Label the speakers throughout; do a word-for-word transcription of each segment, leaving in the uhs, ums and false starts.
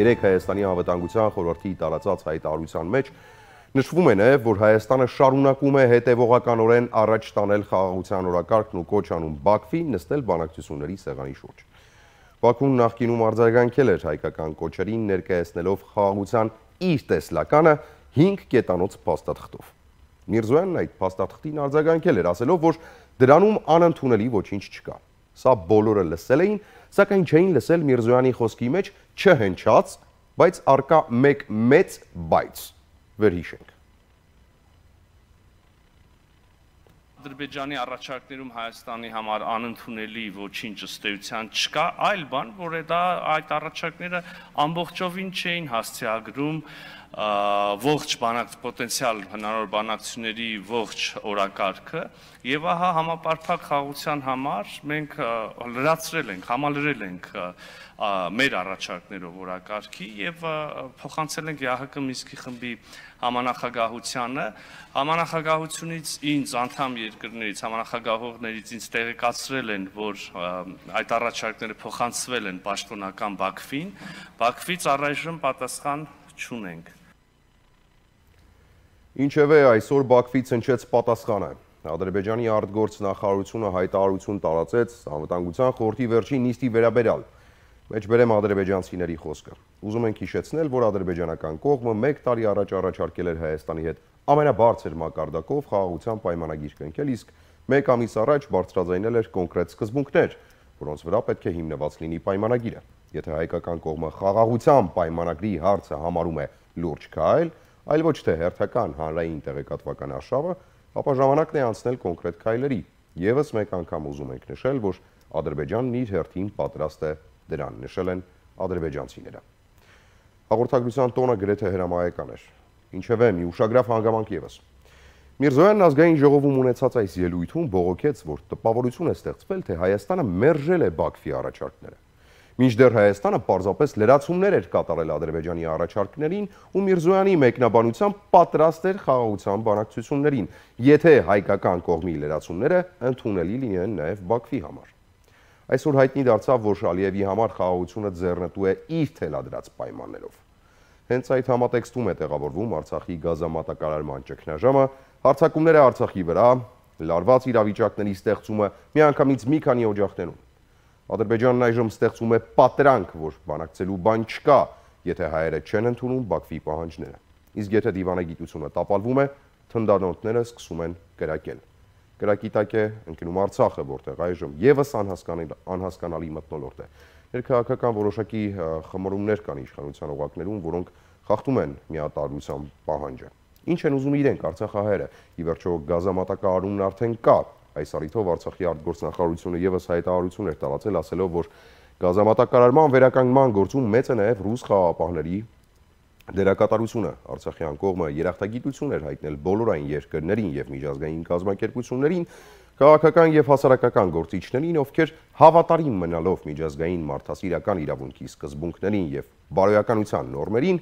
Speaker 1: Երեք Հայաստանի անվտանգության խորհրդի տարածած հայտարարության մեջ նշվում է նաև, որ Հայաստանը շարունակում է հետևողականորեն առաջ տանել խաղաղության օրակարգն ու կոչ անում Բաքվին նստել բանակցությունների սեղանի շուրջ։ Բաքուն նախկինում արձագանքել էր հայկական կոչերին, ներկայացնելով խաղաղության իր տեսլականը հինգ կետանոց փաստաթղթով։ Միրզոյանն այդ փաստաթղթին արձագանքել էր, ասելով, որ դրանում անընդունելի ոչինչ չկա։ Սա բոլորը լսել էին, սակայն չէին լսել Միրզոյանի խոսքի մեջ չհնչած, բայց արկա մեկ մեծ բայց։ Վերհիշենք։
Speaker 2: Ադրբեջանի առաջարկներում Հայաստանի համար անընդունելի ոչինչ ըստ էության չկա, այլ բան, որ դա այդ առաջարկները ամբողջովին չէին հասցեագրում ողջ բանակ պոտենցիալ հնարավոր բանակցությունների ողջ օրակարգը, եւ ահա համապարփակ խաղաղության համար մենք լրացրել ենք, համալրել ենք մեր առաջարկներով օրակարգի եւ փոխանցել ենք ԵԱՀԿ Մինսկի խմբի համանախագահությանը, համանախագահությունից ինձ անդամ երկրներից, համանախագահողներից ինձ տեղեկացրել են, որ այդ առաջարկները փոխանցվել են պաշտոնական Բաքվին, Բաքվից առայժմ պատասխան չունենք։
Speaker 1: Ինչևէ, այսօր Բաքվից հնչեց պատասխանը։ Ադրբեջանի արտգործ նախարարությունը հայտարարություն տարածեց անվտանգության խորհրդի վերջին նիստի վերաբերյալ։ Մեջբերեմ ադրբեջանցիների խոսքը։ Ուզում ենք հիշեցնել, որ ադրբեջանական կողմը մեկ տարի առաջ առաջարկել էր Հայաստանի հետ ամենաբարձր մակարդակով խաղաղության պայմանագիր կնքել, իսկ մեկ ամիս առաջ բարձրաձայնել էր կոնկրետ սկզբունքներ, որոնց վրա պետք է հիմնված լինի պայմանագիրը։ Եթե հայկական կողմը խաղաղության պայմանագրի հարցը համարում է լուրջ քայլ, այլ ոչ թե հերթական հանրային տեղեկատվական արշավը, ապա ժամանակն է անցնել կոնկրետ քայլերի։ Եվս մեկ անգամ ուզում ենք նշել, որ Ադրբեջանն իր հերթին պատրաստ է դրան, նշել են ադրբեջանցիները։ Հաղորդագրության տոնը գրեթե հրամայական էր։ Ինչևէ, մի ուշագրավ հանգամանք ևս։ Միրզոյանն ազգային ժողովում ունեցած այս ելույթում բողոքեց, որ տպավորություն է ստեղծվել, թե Հայաստանը մերժել է Բաքվի առաջարկները։ Մինչդեռ Հայաստանը պարզապես լրացումներ էր կատարել Ադրբեջանի առաջարկներին ու Միրզոյանի մեկնաբանությամբ պատրաստ էր խաղաղության բանակցություններին, եթե հայկական կողմի լրացումները ընդունելի լինեն նաև Բաքվի համար։ Այսօր հայտնի դարձավ, որ Ալիևի համար խաղաղությունը ձեռնտու է իր թելադրած պայմաններով։ Հենց այդ համատեքստում է տեղավորվում Արցախի գազամատակարարման ճգնաժամը, հարձակումները Արցախի վրա, լարված իրավիճակների ստեղծումը միանգամից մի քանի օջախներում։ Ադրբեջանն այժմ ստեղծում է պատրանք, որ բանակցելու բան չկա, եթե հայերը չեն ընդունում Բաքվի պահանջները։ Իսկ եթե դիվանագիտությունը տապալվում է, թնդանոթները սկսում են կրակել։ Կրակի տակ է ընկնում Արցախը, որտեղ այժմ եւս անհասկանալի մթնոլորտ է։ Ներքաղաքական որոշակի խմորումներ կան իշխանության օղակներում, որոնք խախտում են միատարրության պահանջը։ Ինչ են ուզում իրենք արցախահայերը։ Ի վերջո գազամատակարարումն արդեն կա։ Այս առիթով Արցախի արտգործնախարարությունը եւս հայտարարություն էր տարածել, ասելով, որ գազամատակարարման վերականգնման գործում մեծ է նաև ռուս խաղաղապահների դերակատարությունը։ Արցախյան կողմը երախտագիտություն էր հայտնել բոլոր այն երկրներին եւ միջազգային կազմակերպություններին, քաղաքական եւ հասարակական գործիչներին, ովքեր հավատարիմ մնալով միջազգային մարդասիրական իրավունքի սկզբունքներին եւ բարոյականության նորմերին,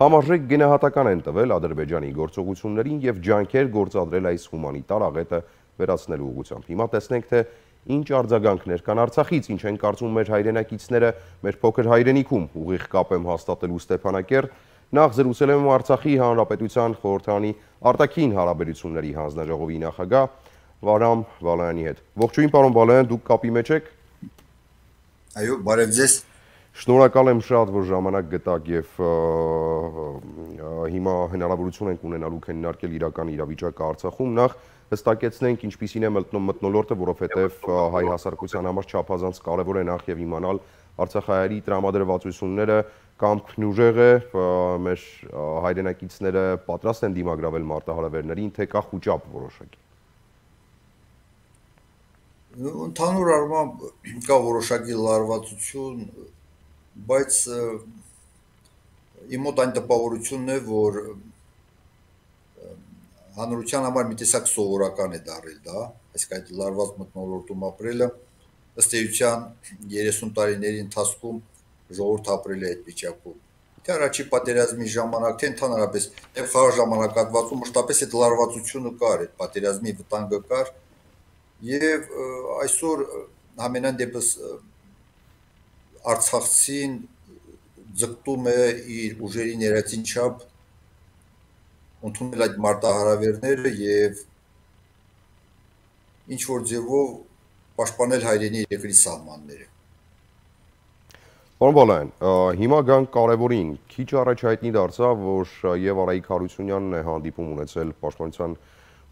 Speaker 1: համարժեք գնահատական են տվել Ադրբեջանի գործողություններին եւ ջանքեր գործադրել այս հումանիտար աղետը վերացնելու ուղղությամբ։ Հիմա տեսնենք, թե ինչ արձագանքներ կան Արցախից, ինչ են կարծում մեր հայրենակիցները մեր փոքր հայրենիքում։ Ուղիղ կապ եմ հաստատելու Ստեփանակերտ, նախ զրուցել եմ Արցախի Հանրապետության խորհրդարանի արտաքին հարաբերությունների հանձնաժողովի նախագահ Վարամ Բալայանի հետ։ Ողջույն, պարոն Բալայան, դուք կապի մեջ եք։
Speaker 3: Այո, բարև ձեզ։
Speaker 1: Շնորհակալ եմ շատ, որ ժամանակ գտաք եւ հիմա հնարավորություն ենք ունենալու քննարկել իրական իրավիճակը Արցախում։ Նախ հստակեցնենք ինչպիսին է մթնոլորտը, որովհետև հայ հասարակության համար չափազանց կարևոր է նախ եւ իմանալ արցախահայերի տրամադրվածությունները կամ քնուժեղ է, մեր հայրենակիցները պատրաստ են դիմագրավել մարտահրավերներին, թե կա խուճապ որոշակի։
Speaker 3: Ընդհանուր առմամբ կա որոշակի լարվածություն, բայց իմ մոտ այն տպավորությունն է, որ հանրության համար մի տեսակ սովորական է դառել դա, այսինքն այդ լարված մթնոլորտում ապրելը, ըստ էության երեսուն տարիների ընթացքում ժողովուրդ ապրել է այդ վիճակում։ Թե առաջի պատերազմի ժամանակ, թե ընդհանրապես եւ խաղաղ ժամանակահատվածում մշտապես այդ լարվածությունը կար, այդ պատերազմի վտանգը կար, եւ այսօր ամենայն դեպս արցախցին ձգտում է իր ուժերի ներածին չափ ընդունել այդ մարտահրավերները եւ ինչ որ ձևով պաշտպանել հայրենի երկրի սահմանները։
Speaker 1: Պարոն Բալայան, հիմա գանք կարևորին, քիչ առաջ հայտնի դարձավ, որ եւ Արայիկ Հարությունյանն է հանդիպում ունեցել պաշտպանության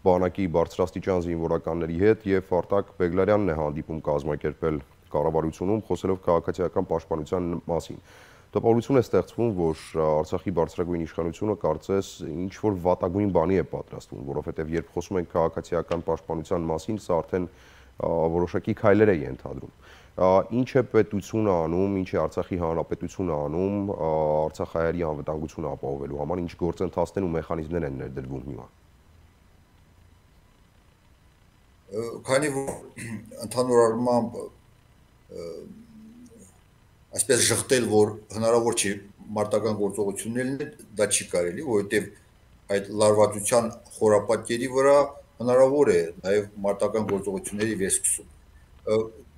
Speaker 1: բանակի բարձրաստիճան զինվորականների հետ եւ Արտակ Բեգլարյանն է հանդիպում կազմակերպել կառավարությունում, խոսելով քաղաքացիական պաշտպանության մասին։ Տպավորություն է ստեղծվում, որ Արցախի բարձրագույն իշխանությունը կարծես ինչ որ վատագույն բանի է պատրաստվում, որովհետեւ երբ խոսում ենք քաղաքացիական պաշտպանության մասին, սա արդեն որոշակի քայլեր է ենթադրում։ Ինչ է պետությունը անում, ինչ է Արցախի հանրապետությունը անում արցախահայերի անվտանգությունը ապահովելու համար, ինչ գործընթացներ ու մեխանիզմներ են ներդրվում հիմա։
Speaker 3: Քանի որ ընդհանուր առմամբ այսպես շղթել, որ հնարավոր չի մարտական գործողություններն դա չի կարելի, որովհետև այդ լարվածության խորապատկերի վրա հնարավոր է նաև մարտական գործողությունների վերսկսում։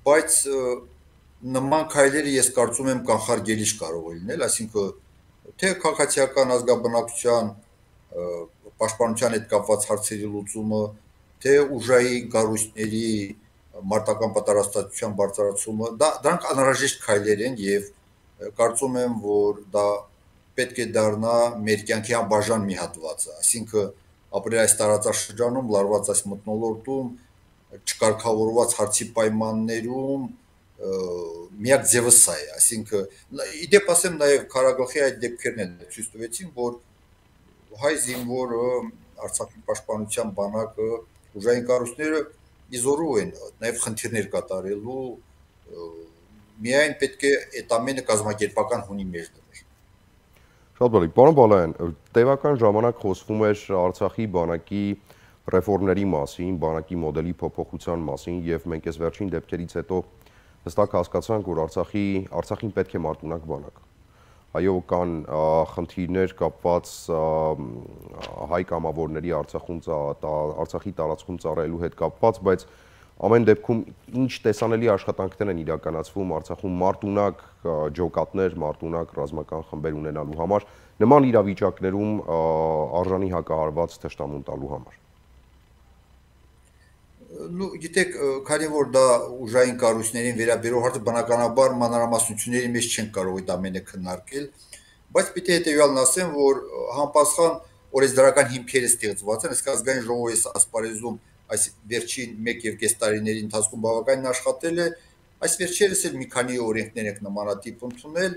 Speaker 3: Բայց նման քայլերը ես կարծում եմ կանխարգելիչ կարող է լինել, այսինքն թե քաղաքացիական ազգաբնակության պաշտպանության հետ կապված հարցերի լուծումը, թե ուժային կառույցների մարտական պատրաստվածության բարձրացումը, դա դրանք անհրաժեշտ քայլեր են եւ կարծում եմ, որ դա պետք է դառնա մեր կյանքի անբաժան մի հատվածը, այսինքն ապրել այս տարածաշրջանում, լարված այս մթնոլորտում, չկարգավորված հարցի պայմաններում միակ ձևը սա է, այսինքն իդեպ ասեմ նաև քարագլխի այդ դեպքերն են ցույց տվեցին, որ հայ զինվորը Արցախի պաշտպանության բանակը ուժային կառույցները իզորու են նաև խնդիրներ կատարելու, միայն պետք է այդ ամենը կազմակերպական հունի մեջ դնել։
Speaker 1: Շատ բարի, պարոն Բալայան, տևական ժամանակ խոսվում էր Արցախի բանակի ռեֆորմների մասին, բանակի մոդելի փոփոխության մասին եւ մենք այս վերջին դեպքերից հետո հստակ հասկացանք, որ Արցախի Արցախին պետք է մարտունակ բանակ։ Այո, կան խնդիրներ կապված հայ կամավորների Արցախում Արցախի տարածքում ծառայելու հետ կապված, բայց ամեն դեպքում ինչ տեսանելի աշխատանքներ են իրականացվում Արցախում մարտունակ ջոկատներ, մարտունակ ռազմական խմբեր ունենալու համար, նման իրավիճակներում արժանի հակահարված թշնամուն տալու համար։
Speaker 3: Ну, գիտեք, քանի որ դա ուժային կառույցներին վերաբերող հարցը բնականաբար մանրամասնությունների մեջ չեն կարող այդ ամենը քննարկել, բայց պիտի հետեւյալն ասեմ, որ համապատասխան օրենսդրական հիմքերը ստեղծված են, իսկ ազգային ժողովի ասպարեզում այս վերջին մեկ եւ կես տարիների ընթացքում բավականին աշխատել է, այս վերջերս էլ մի քանի օրենքներ ենք նմանատիպ ընդունել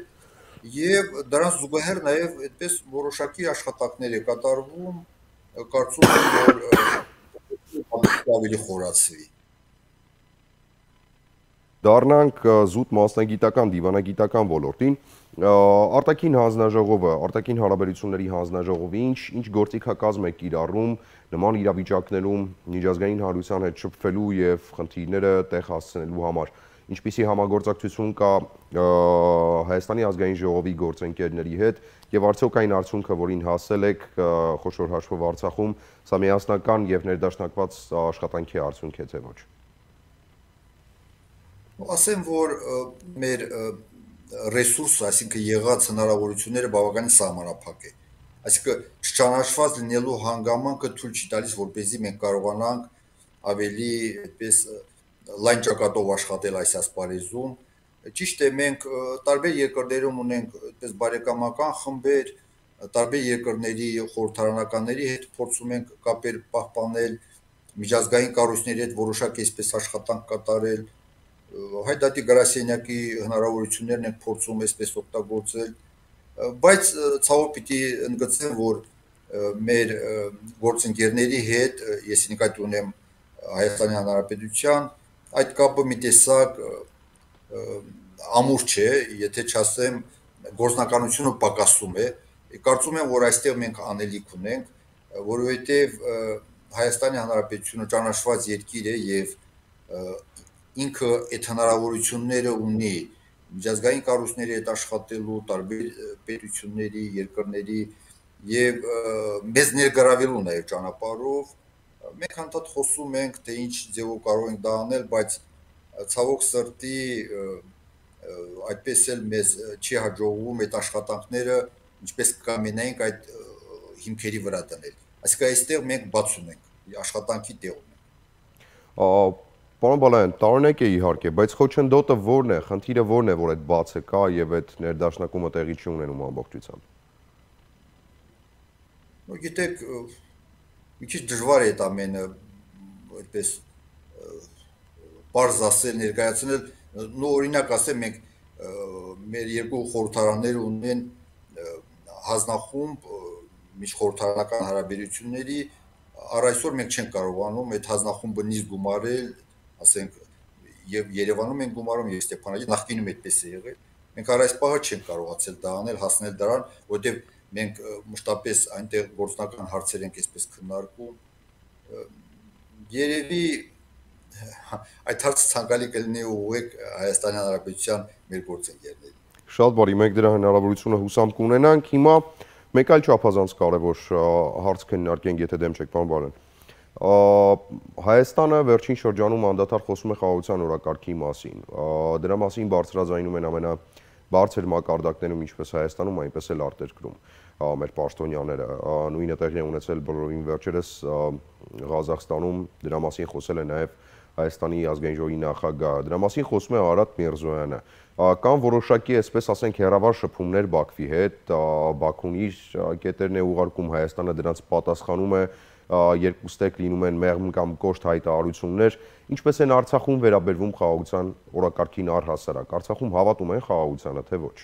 Speaker 3: եւ դրանց զուգահեռ նաեւ այդպես որոշակի աշխատանքներ է կատարվում, կարծում եմ, որ ավելի խորացվի։
Speaker 1: Դառնանք զուտ մասնագիտական, դիվանագիտական ոլորտին, արտաքին հանձնաժողովը, արտաքին հարաբերությունների հանձնաժողովը ինչ ինչ գործիքակազմ է կիրառում նման իրավիճակներում միջազգային հանրության հետ շփվելու եւ խնդիրները տեղ հասցնելու համար, ինչպիսի համագործակցություն կա Հայաստանի ազգային ժողովի գործընկերների հետ եւ արդյոք այն արդյունքը, որին հասել եք խոշոր հաշվով Արցախում, սա միասնական եւ ներդաշնակված աշխատանքի արդյունք է թե ոչ։
Speaker 3: Ասեմ, որ մեր ռեսուրսը, այսինքն եղած հնարավորությունները բավականին սահմանափակ է։ Այսինքն չճանաչված լինելու հանգամանքը թույլ չի տալիս, որպեսզի մենք կարողանանք ավելի այդպես լայն ճակատով աշխատել այս ասպարեզում։ Ճիշտ է, մենք տարբեր երկրներում ունենք այդպես բարեկամական խմբեր, տարբեր երկրների խորհրդարանականների հետ փորձում ենք կապեր պահպանել, միջազգային կառույցների հետ որոշակի այսպես աշխատանք կատարել, Հայդատի գրասենյակի հնարավորություններն ենք փորձում այսպես օգտագործել, բայց ցավոք պիտի ընդգծեմ, որ մեր գործընկերների հետ, ես նկատի ունեմ Հայաստանի Հանրապետության, այդ կապը մի տեսակ ամուր չէ, եթե չասեմ գործնականությունը պակասում է, կարծում եմ, որ այստեղ մենք անելիք ունենք, որովհետև Հայաստանի Հանրապետությունը ճանաչված երկիր է եւ ինքը այդ հնարավորությունները ունի միջազգային կառույցների հետ աշխատելու, տարբեր պետությունների, երկրների եւ մեզ ներգրավելու նաեւ ճանապարհով, մենք հանդարտ խոսում ենք, թե ինչ ձևով կարող ենք դա անել, բայց ցավոք սրտի այդպես էլ մեզ չի հաջողվում այդ աշխատանքները ինչպես կամենայինք այդ հիմքերի վրա դնել։ Այսինքն այստեղ մենք բաց ունենք աշխատանքի տեղ ունենք։
Speaker 1: Պարոն Բալայան, տարօրինակ է իհարկե, բայց խոչընդոտը որն է, խնդիրը որն է, որ այդ բացը կա եւ այդ ներդաշնակումը տեղի չի ունենում ամբողջությամբ։
Speaker 3: Ну, գիտեք, մի քիչ դժվար է այդ ամենը այդպես բարձ ասել, ներկայացնել, նո օրինակ ասեմ, մենք մեր երկու խորհրդարանները ունեն հանձնախումբ միջխորհրդարանական հարաբերությունների, առ այսօր մենք չենք կարողանում այդ հանձնախումբը նիստ գումարել, ասենք, եւ Երևանում են գումարում եւ Ստեփանագերտում, նախկինում այդպես է եղել։ Մենք առ այս պահը չենք կարողացել դա անել, հասնել դրան, որտեղ մենք մշտապես այնտեղ գործնական հարցեր ենք այսպես քննարկում։ Երևի այդ հարցը ցանկալի կլինի ուղղեք Հայաստանի Հանրապետության մեր գործընկերներին։
Speaker 1: Շատ բարի, մենք դրա հնարավորությունը հուսամ կունենանք։ Հիմա մեկ այլ չափազանց կարևոր հարց քննարկենք, եթե դեմ չեք, պարոն Բալայան։ Հայաստանը վերջին շրջանում անդադար խոսում է խաղաղության օրակարգի մասին։ Դրա մասին բարձրաձայնում են ամենաբարձր մակարդակներում ինչպես Հայաստանում, այնպես էլ արտերկրում մեր պաշտոնյաները։ Նույնը տեղի է ունեցել բոլորին վերջերս Ղազախստանում, դրա մասին խոսել է նաև Հայաստանի ազգային ժողովի նախագահը։ Դրա մասին խոսում է Արադ Միրզոյանը։ Կան որոշակի, այսպես ասենք, հեռավար շփումներ Բաքվի հետ, Բաքուն իր կետերն է ուղարկում, Հայաստանը դրանց պատասխանում է, երկուստեք լինում են մեղմ կամ կոշտ հայտարարություններ, ինչպես են Արցախում վերաբերվում խաղաղության օրակարգին առհասարակ։ Արցախում հավատում են խաղաղությանը, թե ոչ։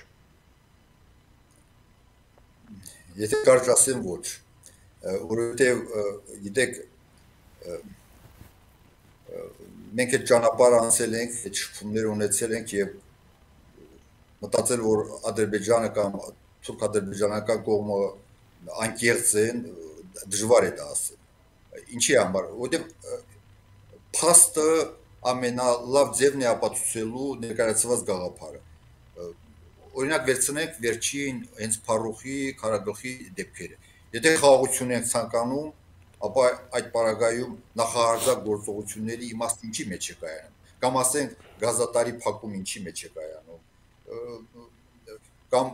Speaker 3: Եթե կարճ ասեմ ոչ, որովհետև գիտեք, մենք այդ ճանապարհը անցել ենք, այդ շփումներ ունեցել ենք եւ մտածել, որ Ադրբեջանը կամ թուրք-ադրբեջանական կողմը անկեղծ են, դժվար է դա ասել։ Ինչի համար, որովհետև փաստը ամենալավ ձևն է ապացուցելու ներկայացված գաղափարը։ Օրինակ վերցնենք վերջին հենց Փարուխի քարագլխի դեպքերը։ Եթե խաղաղություն ենք ցանկանում, ապա այդ պարագայում նախահարձակ գործողությունների իմաստը ինչի մեջ է կայանում, կամ ասենք գազատարի փակում ինչի մեջ է կայանում, կամ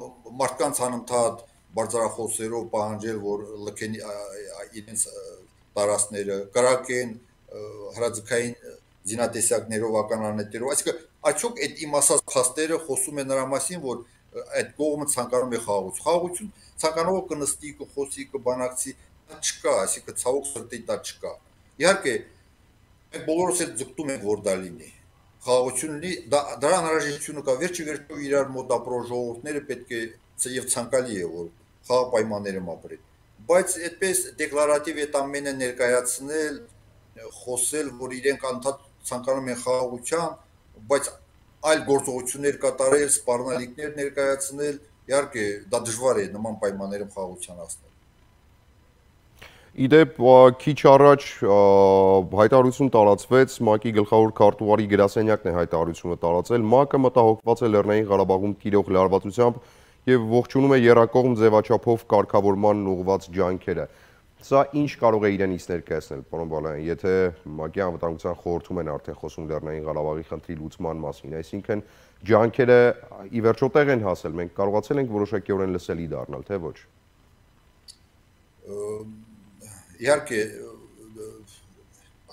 Speaker 3: մարդկանց անընդհատ բարձրախոսերով պահանջել, որ լքեն իրենց տարածքները, կրակեն հրաձգային զինատեսակներով, ականանետերով, այսինքն արդյոք այդ իմ ասած փաստերը խոսում են նրա մասին, որ այդ կողմը ցանկանում է խաղաղություն։ Խաղաղություն ցանկանողը կնստի, կխոսի, կբանակցի, դա չկա, այսինքն ցավոք սրտի դա չկա։ Իհարկե, մենք բոլորս էլ ձգտում ենք, որ դա լինի։ Խաղաղություն լինի, դրա անհրաժեշտությունը կա, վերջի վերջո իրար մոտ ապրող ժողովուրդները պետք է եւ ցանկալի է, որ խաղաղ պայմաններում ապրեն։ Բայց այդպես դեկլարատիվ այդ ամենը ներկայացնել, խոսել, որ իրենք անդադ ցանկանում են խաղաղության, բայց այլ գործողություններ կատարել, սպառնալիքներ ներկայացնել, իհարկե դա դժվար է նման պայմաններում խաղաղության հասնել։
Speaker 1: Իդեպ քիչ առաջ հայտարարություն տարածվեց, ՄԱԿ-ի գլխավոր քարտուղարի գրասենյակն է հայտարարությունը տարածել, ՄԱԿ-ը մտահոգված է Լեռնային Ղարաբաղում տիրող լարվածությամբ եւ ողջունում է եռակողմ ձևաչափով կարգավորման ուղղված ջանքերը։ Սա ինչ կարող է իրենից ներկայացնել, պարոն Բալայան, եթե ՄԱԿ-ի անվտանգության խորհրդում են արդեն խոսում Լեռնային Ղարաբաղի խնդրի լուծման մասին, այսինքն ջանքերը ի վերջո տեղ են հասել, մենք կարողացել ենք որոշակիորեն լսելի դառնալ, թե ոչ։
Speaker 3: Իհարկե,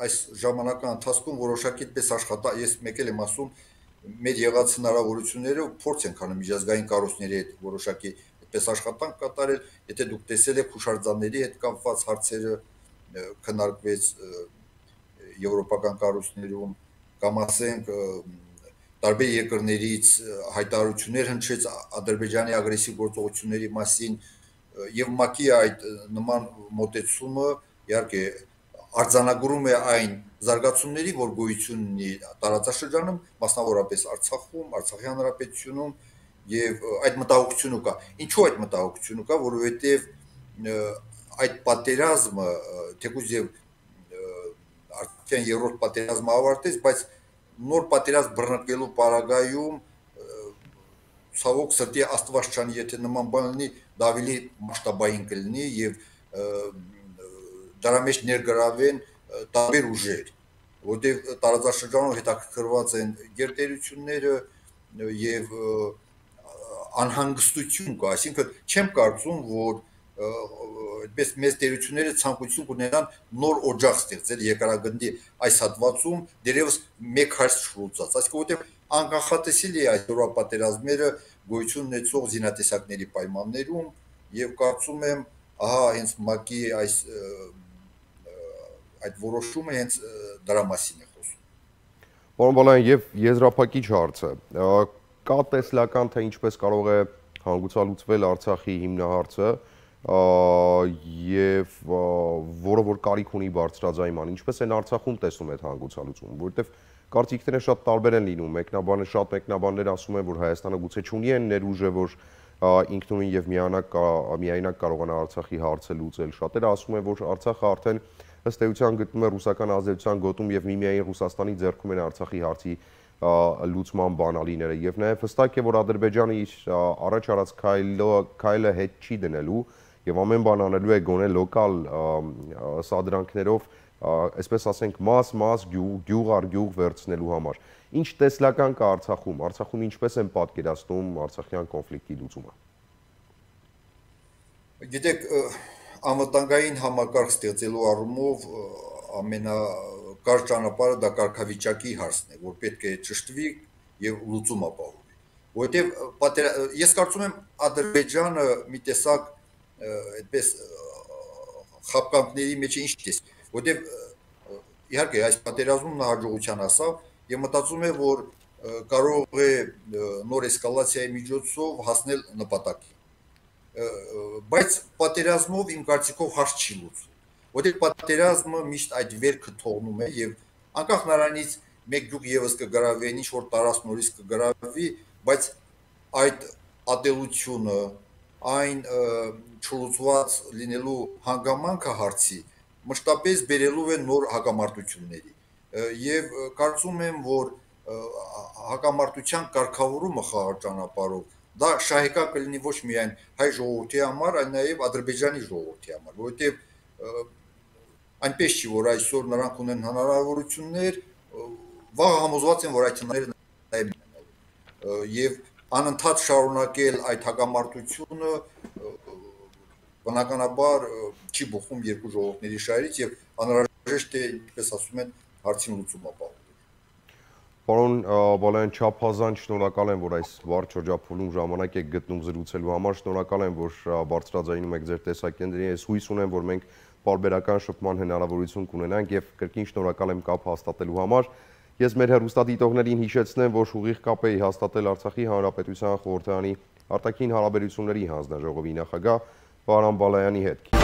Speaker 3: այս ժամանակի ընթացքում որոշակի այդպես աշխատա, ես մեկ էլ եմ ասում, մեր եղած հնարավորությունները փորձ ենք անում միջազգային կառույցների հետ որոշակի այդպես աշխատանք կատարել, եթե դուք տեսել եք հուշարձանների հետ կապված հարցերը քննարկվեց եվրոպական կառույցներում, կամ ասենք տարբեր երկրներից հայտարարություններ հնչեց Ադրբեջանի ագրեսիվ գործողությունների մասին եւ ՄԱԿ-ի այդ նման մոտեցումը իհարկե արձանագրում է այն զարգացումների, որ գոյություն ունի տարածաշրջանում, մասնավորապես Արցախում, Արցախի Հանրապետությունում եւ այդ մտահոգությունը կա։ Ինչու այդ մտահոգությունը կա, որովհետեւ այդ պատերազմը թեկուզ եւ արդեն երրորդ պատերազմը ավարտեց, բայց նոր պատերազմ բռնկելու պարագայում ցավոք սրտի Աստված չանի, եթե նման բան լինի, դա ավելի մասշտաբային կլինի եւ դրա մեջ ներգրավեն տարբեր ուժեր, որտեղ տարածաշրջանում հետաքրքրված են գերտերությունները, եւ անհանգստություն կա, այսինքն չեմ կարծում, որ այդպես մեծ տերությունները ցանկություն կունենան նոր օջախ ստեղծել երկարագնդի այս հատվածում դերևս մեկ հարց չլուծած, այսինքն որտեղ անկախատեսելի է այսօրվա պատերազմները գոյություն ունեցող զինատեսակների պայմաններում եւ կարծում եմ ահա հենց ՄԱԿ-ի այս այդ որոշումը հենց դրա մասին է խոսում։
Speaker 1: Պարոն Բալայան, եւ եզրափակիչ հարցը, կա տեսլական, թե ինչպես կարող է հանգուցալուծվել Արցախի հիմնահարցը եւ որը որ կարիք ունի բարձրաձայնման, ինչպես են Արցախում տեսնում այդ հանգուցալուծումը, որովհետեւ կարծիքները շատ տարբեր են լինում, մեկնաբանը շատ մեկնաբաններ ասում են, որ Հայաստանը գուցե չունի այն ներուժը, որ ինքնուրույն եւ միանակ միայնակ կարողանա Արցախի հարցը լուծել։ Շատերը ասում են, որ Արցախը արդեն ըստ էության գտնում է ռուսական ազդեցության գոտում եւ միմիայն Ռուսաստանի ձեռքում են Արցախի հարցի լուծման բանալիները եւ նաեւ հստակ է, որ Ադրբեջանը իր առաջ արած քայլը հետ չի դնելու եւ ամեն բան անելու է գոնե լոկալ սադրանքներով, այսպես ասենք, մաս-մաս գյուղ առ գյուղ վերցնելու համար։ Ինչ տեսլական կա Արցախում, Արցախում ինչպես են պատկերացնում արցախյան կոնֆլիկտի լուծումը։
Speaker 3: Գիտեք, անվտանգային համակարգ ստեղծելու առումով ամենակարճ ճանապարհը դա կարգավիճակի հարցն է, որ պետք է ճշտվի եւ լուծում ապահովի։ Որովհետեւ ես կարծում եմ Ադրբեջանը մի տեսակ այդպես խապկանքների մեջ է ինչ տեսք, որովհետեւ իհարկե այս պատերազմում նա հաջողության հասավ եւ մտածում է, որ կարող է նոր էսկալացիայի միջոցով հասնել նպատակին։ Բայց պատերազմով իմ կարծիքով հարց չի լուծվում, որովհետեւ պատերազմը միշտ այդ վերքը թողնում է եւ անկախ նրանից մեկ գյուղ եւս կգրավի, ինչ որ տարածք նորից կգրավի, բայց այդ ատելությունը, այն չլուծված լինելու հանգամանքը հարցի մշտապես բերելու է նոր հակամարտությունների եւ կարծում եմ, որ հակամարտության կարգավորումը խաղաղ ճանապարհով դա շահեկան կլինի ոչ միայն հայ ժողովրդի համար, այլ նաեւ Ադրբեջանի ժողովրդի համար, որովհետեւ այնպես չի, որ այսօր նրանք ունեն հնարավորություններ, վաղ համոզված են, որ այդ հնարավորությունները նաեւ եւ անընդհատ շարունակել այդ հակամարտությունը բնականաբար չի բխում երկու ժողովուրդների շահերից եւ անհրաժեշտ է, ինչպես ասում են, հարցին լուծում ապահովել։
Speaker 1: Պարոն Բալայան, չափազանց շնորհակալ եմ, որ այս վառ շրջափուլում ժամանակ եք գտնում զրուցելու համար, շնորհակալ եմ, որ բարձրաձայնում եք ձեր տեսակետներին, ես հույս ունեմ, որ մենք պարբերական շփման հնարավորություն կունենանք եւ կրկին շնորհակալ եմ կապ հաստատելու համար։ Ես մեր հեռուստադիտողներին հիշեցնեմ, որ ուղիղ կապ էի հաստատել Արցախի Հանրապետության խորհրդարանի արտաքին հարաբերությունների հանձնաժողովի նախագահ Վահրամ Բալայանի հետ։